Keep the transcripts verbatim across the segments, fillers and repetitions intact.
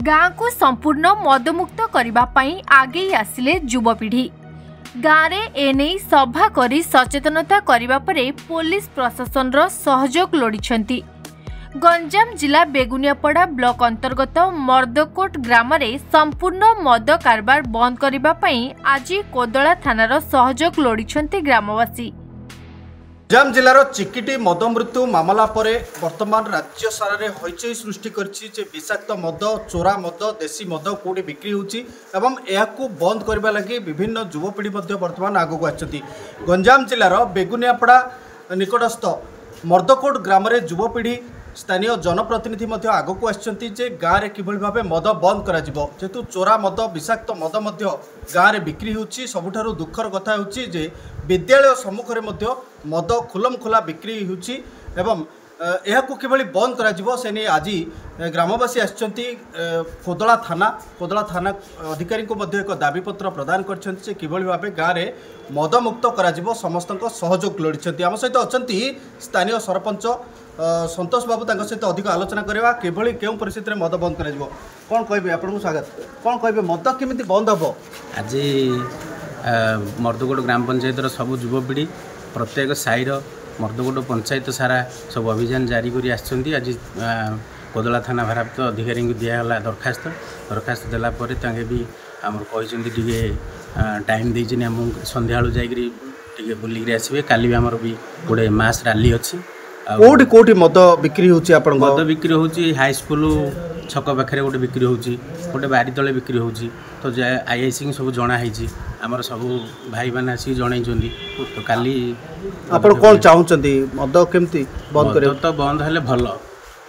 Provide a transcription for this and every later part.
ଗାଁକୁ ସମ୍ପୂର୍ଣ୍ଣ ମଦମୁକ୍ତ କରିବା ପାଇଁ ଆଗେଇ ଆସିଲେ ଯୁବପିଢ଼ି। ଗାଁରେ ଏନେଇ ସଭା କରି ସଚେତନତା କରିବା ପରେ ପୋଲିସ ପ୍ରଶାସନର ସହଯୋଗ ଲୋଡ଼ିଛନ୍ତି। ଗଞ୍ଜାମ ଜିଲ୍ଲା ବେଗୁନିଆପଡ଼ା ବ୍ଲକ ଅନ୍ତର୍ଗତ ମର୍ଦ୍ଦକୋଟ ଗ୍ରାମରେ ସମ୍ପୂର୍ଣ୍ଣ ମଦ କାରବାର ବନ୍ଦ କରିବା ପାଇଁ ଆଜି କୋଦଳା ଥାନାର ସହଯୋଗ ଲୋଡ଼ିଛନ୍ତି ଗ୍ରାମବାସୀ। ଗଞ୍ଜାମ ଜିଲ୍ଲାର ଚିକିଟି ମଦ ମୃତ୍ୟୁ ମାମଲା ପରେ ବର୍ତ୍ତମାନ ରାଜ୍ୟ ସାରାରେ ହଇଚଇ ସୃଷ୍ଟି କରିଛି ଯେ ବିଷାକ୍ତ ମଦ, ଚୋରା ମଦ, ଦେଶୀ ମଦ କେଉଁଠି ବିକ୍ରି ହେଉଛି ଏବଂ ଏହାକୁ ବନ୍ଦ କରିବା ଲାଗି ବିଭିନ୍ନ ଯୁବପିଢ଼ି ମଧ୍ୟ ବର୍ତ୍ତମାନ ଆଗକୁ ଆସିଛନ୍ତି। ଗଞ୍ଜାମ ଜିଲ୍ଲାର ବେଗୁନିଆପଡ଼ା ନିକଟସ୍ଥ ମର୍ଦ୍ଦକୋଟ ଗ୍ରାମରେ ଯୁବପିଢ଼ି, ସ୍ଥାନୀୟ ଜନପ୍ରତିନିଧି ମଧ୍ୟ ଆଗକୁ ଆସିଛନ୍ତି ଯେ ଗାଁରେ କିଭଳି ଭାବେ ମଦ ବନ୍ଦ କରାଯିବ, ଯେହେତୁ ଚୋରା ମଦ, ବିଷାକ୍ତ ମଦ ମଧ୍ୟ ଗାଁରେ ବିକ୍ରି ହେଉଛି। ସବୁଠାରୁ ଦୁଃଖର କଥା ହେଉଛି ଯେ ବିଦ୍ୟାଳୟ ସମ୍ମୁଖରେ ମଧ୍ୟ ମଦ ଖୁଲମ ଖୋଲା ବିକ୍ରି ହେଉଛି ଏବଂ ଏହାକୁ କିଭଳି ବନ୍ଦ କରାଯିବ ସେ ନେଇ ଆଜି ଗ୍ରାମବାସୀ ଆସିଛନ୍ତି। କୋଦଳା ଥାନା କୋଦଳା ଥାନା ଅଧିକାରୀଙ୍କୁ ମଧ୍ୟ ଏକ ଦାବିପତ୍ର ପ୍ରଦାନ କରିଛନ୍ତି ଯେ କିଭଳି ଭାବେ ଗାଁରେ ମଦମୁକ୍ତ କରାଯିବ, ସମସ୍ତଙ୍କ ସହଯୋଗ ଲୋଡ଼ିଛନ୍ତି। ଆମ ସହିତ ଅଛନ୍ତି ସ୍ଥାନୀୟ ସରପଞ୍ଚ ସନ୍ତୋଷ ବାବୁ, ତାଙ୍କ ସହିତ ଅଧିକ ଆଲୋଚନା କରିବା କିଭଳି କେଉଁ ପରିସ୍ଥିତିରେ ମଦ ବନ୍ଦ କରାଯିବ। କ'ଣ କହିବେ? ଆପଣଙ୍କୁ ସ୍ୱାଗତ। କ'ଣ କହିବେ, ମଦ କେମିତି ବନ୍ଦ ହେବ? ଆଜି ମର୍ଦ୍ଦକୋଟ ଗ୍ରାମ ପଞ୍ଚାୟତର ସବୁ ଯୁବପିଢ଼ି, ପ୍ରତ୍ୟେକ ସାହିର, ମର୍ଦ୍ଦକୋଟ ପଞ୍ଚାୟତ ସାରା ସବୁ ଅଭିଯାନ ଜାରି କରି ଆସିଛନ୍ତି। ଆଜି କୋଦଳା ଥାନା ଭାରପ୍ରାପ୍ତ ଅଧିକାରୀଙ୍କୁ ଦିଆଗଲା ଦରଖାସ୍ତ। ଦରଖାସ୍ତ ଦେଲା ପରେ ତାଙ୍କେ ବି ଆମର କହିଛନ୍ତି, ଟିକେ ଟାଇମ୍ ଦେଇଛନ୍ତି ଆମକୁ, ସନ୍ଧ୍ୟାବେଳୁ ଯାଇକରି ଟିକେ ବୁଲିକିରି ଆସିବେ। କାଲି ବି ଆମର ବି ଗୋଟେ ମାସ୍ ରାଲି ଅଛି। କେଉଁଠି କେଉଁଠି ମଦ ବିକ୍ରି ହେଉଛି ଆପଣଙ୍କ? ମଦ ବିକ୍ରି ହେଉଛି ହାଇସ୍କୁଲ ଛକ ପାଖରେ ଗୋଟେ ବିକ୍ରି ହେଉଛି, ଗୋଟେ ବାରି ତଳେ ବିକ୍ରି ହେଉଛି। ତ I I ସିଙ୍କୁ ସବୁ ଜଣା ହେଇଛି, ଆମର ସବୁ ଭାଇମାନେ ଆସିକି ଜଣେଇଛନ୍ତି। ତ କାଲି ଆପଣ କ'ଣ ଚାହୁଁଛନ୍ତି, ମଦ କେମିତି ବନ୍ଦ କରିବେ? ତ ବନ୍ଦ ହେଲେ ଭଲ।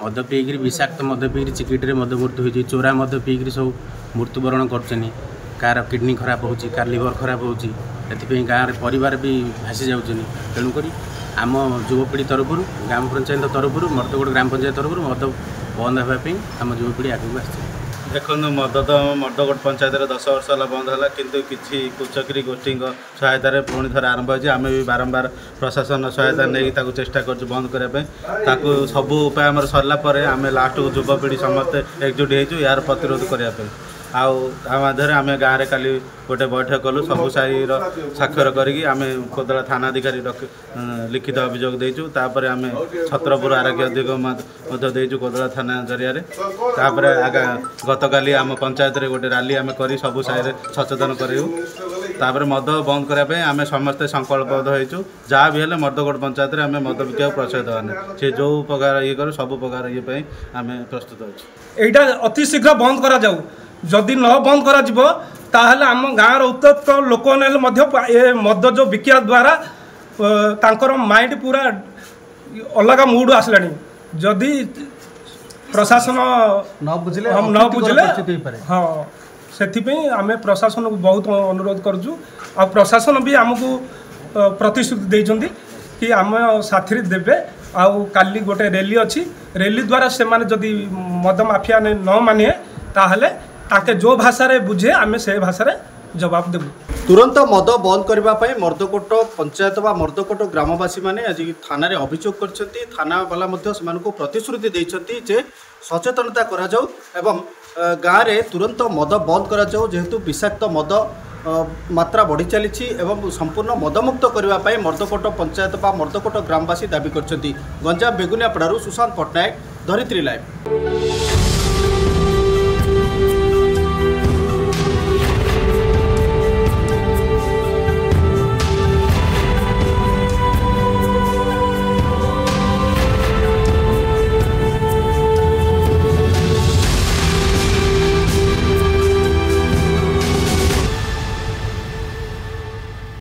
ମଦ ପିଇକିରି, ବିଷାକ୍ତ ମଦ ପିଇକିରି ଚିକିଟିରେ ମଦ ମୃତ୍ୟୁ ହେଇଛି। ଚୋରା ମଦ ପିଇକିରି ସବୁ ମୃତ୍ୟୁବରଣ କରୁଛନ୍ତି। କାହାର କିଡ଼ନୀ ଖରାପ ହେଉଛି, କାହାର ଲିଭର ଖରାପ ହେଉଛି, ଏଥିପାଇଁ ଗାଁରେ ପରିବାର ବି ଭାସି ଯାଉଛନ୍ତି। ତେଣୁକରି ଆମ ଯୁବପିଢ଼ି ତରଫରୁ, ଗ୍ରାମ ପଞ୍ଚାୟତ ତରଫରୁ, ମର୍ଦ୍ଦକୋଟ ଗ୍ରାମ ପଞ୍ଚାୟତ ତରଫରୁ ମଦ ବନ୍ଦ ହେବା ପାଇଁ ଆମ ଯୁବପିଢ଼ି ଆଗକୁ ଆସିଛି। ଦେଖନ୍ତୁ, ମଦ ତ ମର୍ଦ୍ଦକୋଟ ପଞ୍ଚାୟତରେ ଦଶ ବର୍ଷ ହେଲା ବନ୍ଦ ହେଲା, କିନ୍ତୁ କିଛି କୁଚକ୍ରୀ ଗୋଷ୍ଠୀଙ୍କ ସହାୟତାରେ ପୁଣି ଥରେ ଆରମ୍ଭ ହୋଇଛି। ଆମେ ବି ବାରମ୍ବାର ପ୍ରଶାସନ ସହାୟତା ନେଇକି ତାକୁ ଚେଷ୍ଟା କରୁଛୁ ବନ୍ଦ କରିବା ପାଇଁ। ତାକୁ ସବୁ ଉପାୟ ଆମର ସରିଲା ପରେ ଆମେ ଲାଷ୍ଟକୁ ଯୁବପିଢ଼ି ସମସ୍ତେ ଏକଜୁଟ ହେଇଛୁ ଏହାର ପ୍ରତିରୋଧ କରିବା ପାଇଁ। ଆଉ ତା ମାଧ୍ୟମରେ ଆମେ ଗାଁରେ କାଲି ଗୋଟେ ବୈଠକ କଲୁ, ସବୁ ସାହିର ସ୍ୱାକ୍ଷର କରିକି ଆମେ କୋଦଳା ଥାନା ଅଧିକାରୀ ଲିଖିତ ଅଭିଯୋଗ ଦେଇଛୁ। ତାପରେ ଆମେ ଛତ୍ରପୁର ଆରକ୍ଷୀ ଅଧିକ ମଧ୍ୟ ଦେଇଛୁ କୋଦଳା ଥାନା ଜରିଆରେ। ତାପରେ ଗତକାଲି ଆମ ପଞ୍ଚାୟତରେ ଗୋଟେ ରାଲି ଆମେ କରି ସବୁ ସାହିରେ ସଚେତନ କରିବୁ। ତାପରେ ମଦ ବନ୍ଦ କରିବା ପାଇଁ ଆମେ ସମସ୍ତେ ସଂକଳ୍ପବଦ୍ଧ ହେଇଛୁ। ଯାହା ବି ହେଲେ ମର୍ଦ୍ଦକୋଟ ପଞ୍ଚାୟତରେ ଆମେ ମଦ ବିକିବାକୁ ପ୍ରୋତ୍ସାହିତ ଦେବାନି। ସେ ଯେଉଁ ପ୍ରକାର ଇଏ କରୁ, ସବୁ ପ୍ରକାର ଇଏ ପାଇଁ ଆମେ ପ୍ରସ୍ତୁତ ଅଛୁ। ଏଇଟା ଅତି ଶୀଘ୍ର ବନ୍ଦ କରାଯାଉ। ଯଦି ନ ବନ୍ଦ କରାଯିବ, ତାହେଲେ ଆମ ଗାଁର ଉତ୍ତ୍ୟକ୍ତ ଲୋକମାନେ ହେଲେ ମଧ୍ୟ ଏ ମଦ ଯେଉଁ ବିକିବା ଦ୍ୱାରା ତାଙ୍କର ମାଇଣ୍ଡ ପୁରା ଅଲଗା ମୁଡ୍ ଆସିଲାଣି। ଯଦି ପ୍ରଶାସନ ନ ବୁଝିଲେ ନ ବୁଝିଲେ, ହଁ, ସେଥିପାଇଁ ଆମେ ପ୍ରଶାସନକୁ ବହୁତ ଅନୁରୋଧ କରୁଛୁ। ଆଉ ପ୍ରଶାସନ ବି ଆମକୁ ପ୍ରତିଶ୍ରୁତି ଦେଇଛନ୍ତି କି ଆମ ସାଥିରେ ଦେବେ। ଆଉ କାଲି ଗୋଟେ ରେଲି ଅଛି, ରେଲି ଦ୍ୱାରା ସେମାନେ ଯଦି ମଦ ମାଫିଆ ନ ମାନିବେ, ତାହେଲେ ତାଙ୍କେ ଯେଉଁ ଭାଷାରେ ବୁଝେ ଆମେ ସେ ଭାଷାରେ ଜବାବ ଦେବୁ। ତୁରନ୍ତ ମଦ ବନ୍ଦ କରିବା ପାଇଁ ମର୍ଦ୍ଦକୋଟ ପଞ୍ଚାୟତ ବା ମର୍ଦ୍ଦକୋଟ ଗ୍ରାମବାସୀମାନେ ଆଜି ଥାନାରେ ଅଭିଯୋଗ କରିଛନ୍ତି। ଥାନାବାଲା ମଧ୍ୟ ସେମାନଙ୍କୁ ପ୍ରତିଶ୍ରୁତି ଦେଇଛନ୍ତି ଯେ ସଚେତନତା କରାଯାଉ ଏବଂ ଗାଁରେ ତୁରନ୍ତ ମଦ ବନ୍ଦ କରାଯାଉ, ଯେହେତୁ ବିଷାକ୍ତ ମଦ ମାତ୍ରା ବଢ଼ି ଚାଲିଛି ଏବଂ ସମ୍ପୂର୍ଣ୍ଣ ମଦମୁକ୍ତ କରିବା ପାଇଁ ମର୍ଦ୍ଦକୋଟ ପଞ୍ଚାୟତ ବା ମର୍ଦ୍ଦକୋଟ ଗ୍ରାମବାସୀ ଦାବି କରିଛନ୍ତି। ଗଞ୍ଜାମ ବେଗୁନିଆପଡ଼ାରୁ ସୁଶାନ୍ତ ପଟ୍ଟନାୟକ, ଧରିତ୍ରୀ ଲାଇଭ୍।